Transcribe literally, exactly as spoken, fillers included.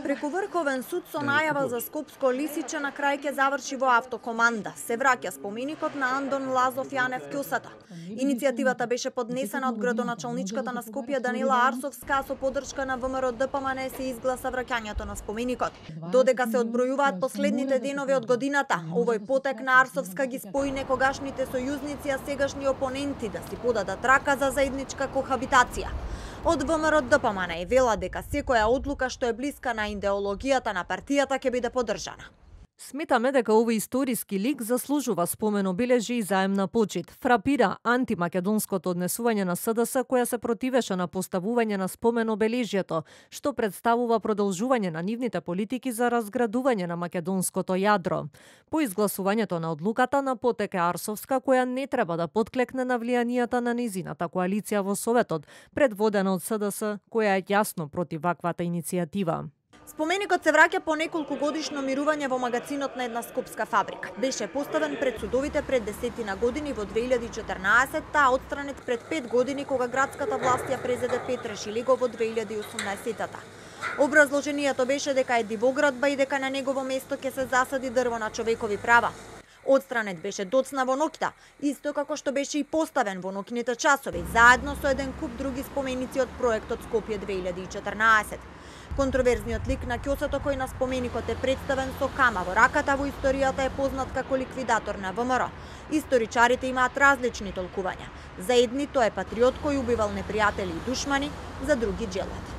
Преку Врховен суд со најава за Скопско Лисиче на крај ќе заврши во автокоманда. Се враќа споменикот на Андон Лазов Јанев Ќосата. Иницијативата беше поднесена од градоначалничката на Скопје Данила Арсовска, со поддршка на ВМРО Д П М Н се изгласа враќањето на споменикот. Додека се одбројуваат последните денови од годината, овој потек на Арсовска ги спои некогашните сојузници, а сегашни опоненти да си подадат рака за заедничка кохабитација. Од ВМРО Д П М Н вела дека секоја одлука што е блиска на идеологијата на партијата ќе биде поддржана. Сметаме дека овој историски лик заслужува спомен обележи и заемна почит. Фрапира антимакедонското однесување на С Д С која се противеше на поставување на спомен обележието, што представува продолжување на нивните политики за разградување на македонското јадро. По изгласувањето на одлуката на потек е Арсовска, која не треба да потклекне на влијанијата на низината коалиција во Советот, предводена од С Д С, која е јасно против ваквата иницијатива. Споменикот се враќа по неколку годишно мирување во магацинот на една скопска фабрика. Беше поставен пред судовите пред десетина години во две илјади и четрнаесетта, а отстранет пред пет години кога градската власт ја презеде Петре Шилиго во две илјади и осумнаесетта. Образложението беше дека е дивоградба и дека на негово место ќе се засади дрво на човекови права. Отстранет беше доцна во ноќта, исто како што беше и поставен во ноќните часови, заедно со еден куп други споменици од проектот Скопје две илјади и четрнаесетта. Контроверзниот лик на Ќосато кој на споменикот е представен со кама во раката во историјата е познат како ликвидатор на В М Р. Историчарите имаат различни толкувања. За едни тоа е патриот кој убивал непријатели и душмани, за други джелат.